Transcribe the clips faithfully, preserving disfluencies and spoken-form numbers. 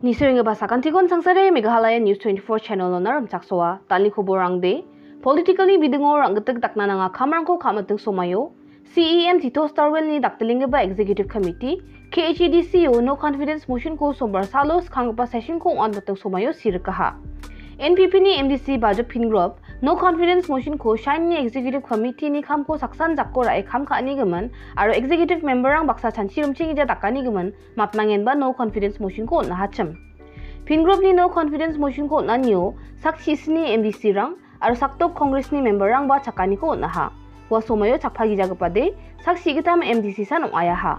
Nisoenggipa sakantikon sangsare Meghalaya News twenty-four channel-ona rimchaksoa. Dal·ni koborangde, political-ni bidingo rang·gitik dakna nanga kamrangko ka·miting somaio, C E M Tito Starwell-ni dakdilenggipa Executive Committee, K H A D C-o no confidence motion-ko sombar salo skanggipa session-ko ong·atmiting somaio sirikaha. N P P-ni M D C Bajop Phingrop, no confidence motion-ko Shine-ni Executive Committee-ni kamko saksan jako ra·e kam ka·anigimin, aro executive member-rang baksa chanchi rimchengija dakanigimin, mapnangenba no confidence motion-ko on·ahachim. Phingrop-ni no confidence motion-ko on·anio sak chisni M D C-rang aro sakdok Congress-ni member-rangba chakaniko on·aha. Ua somoio chakpagijagipade sak sigitam M D C san ong·aiaha.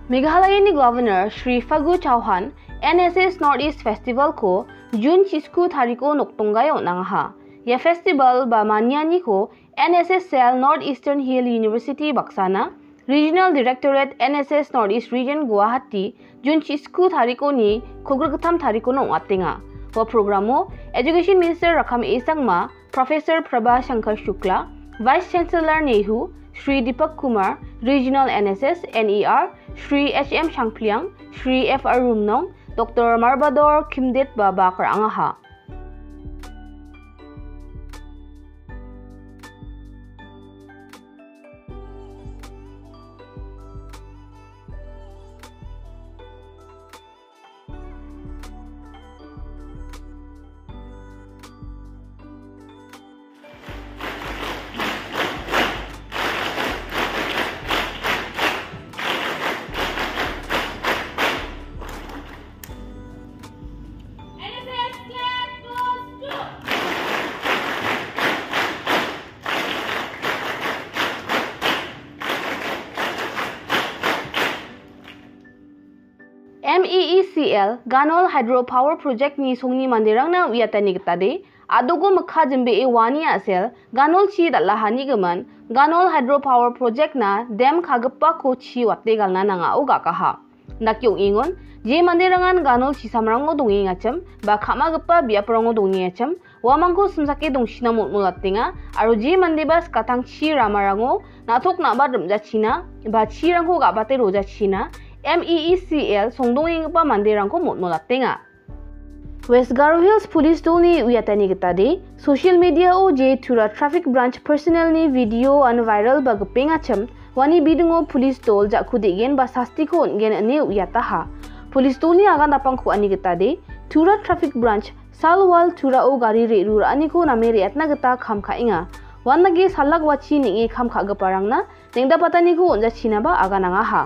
Meghalayani Governor Shri Fagu Chauhan N S S North East Festival-ko June chisku tariko nokdonggaio on·angaha. Ia festival ba manianiko N S S cell North Eastern Hill University baksana Regional Directorate N S S North East Region Guwahati June chisku tarikoni kolgrikgittam tarikono ong·atenga. Ua programo Education Minister Rakkam A Sangma, Professor Prabha Shankar Shukla, Vice Chancellor Nehu, Shri Deepak Kumar, Regional N S S N E R, Shri H M Shangpliang, Shri F R Rumnong, Doctor Marbador Kimdet ba bak ra·angaha. M E E C L Ganol Hydropower Project-ni songni manderangna uiatani gitade, adogo mikka jimbee uani a·sel Ganol chi dal·ahanigimin, Ganol Hydropower Project-na dam kagipako chi wate galna nangao ga·gaha. Dake ong·engon, je manderangan Ganol chisamrango dongengachim, ba ka·magipa biaprango dongengachim, uamangko simsake dongchina mol·molatenga, aro je mandeba skatang chi ramarango na·tok na·bat rim·jachina, ba chirangko ga·bate rojachina, M E E C L songdongenggipa manderangko mol·molatenga. West Garo Hills Police dolni uiatani gitade, social media-o je Tura Traffic Branch personnel-ni video-an viral ba gipengachim, uani bidingo police dol ja·ku de·gen ba sastiko on·gen ine uiataha. Police dolni agan napangko ani gitade, Tura Traffic Branch Salwal Turao gari re·ruraaniko name re·atna gita kam ka·enga. Uandake salak wachi neng·e kam ka·giparangna neng·dapataniko on·jachinaba aganangaha.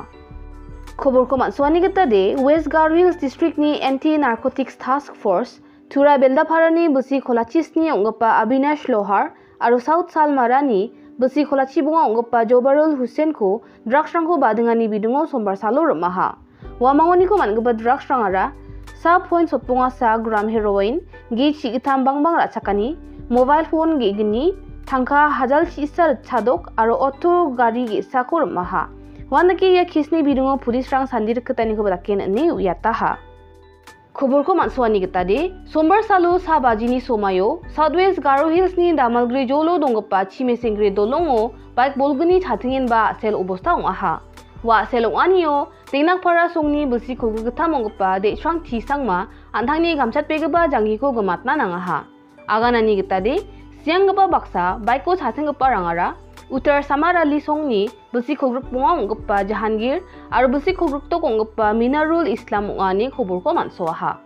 Koborko man·suani gitade, West Garo Hills District-ni Anti Narcotics Task Force, Tura Beldaparani bilsi kolachisni ong·gipa Abinash Lohar aro South Salmarani bilsi kolachibonga ong·gipa Jobarul Hussain-ko drugs-rangko badingani bidingo sombar salo rim·aha. Uamangoniko man·gipa drugs-rangara sa point sotbonga sa gram heroin, ge chigittam bangbang ra·chakani, mobile phone ge·gni, tangka hajal chi·sa ritchadok aro auto gari ge·sako rim·aha. Uandake ia case-ni bidingo police-rang sandi rikgitanikoba daken ine uiataha. Koborko man·suani gitade, sombar salo sa bajini somaio South West Garo Hills-ni Damalgre jolo donggipa Chimesengre dolongo bike bolgni chatengenba a·sel obosta ong·aha. Ua a·sel ong·anio Dengnakpara songni bilsi kolgrikgittam ong·gipa De·srang T. Sangma an·tangni gamchatbegipa janggiko gimatna nangaha. Aganani gitade, sianggipa baksa bike-o chatenggiparangara Uttar Samarali songni bilsi kolgrikbonga ong·gipa Jahangir aro bilsi kolgrikdok ong·gipa Minarul Islam ong·a ine koborko man·soaha.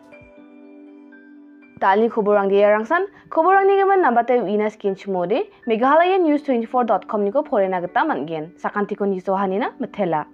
Dal·ni koborrangde iarangsan, koborrangni gimin nambate uina skinchimode, Meghalaya News twenty-four dot com-niko porena gita man·gen. Sakantikon nisohanina mitela.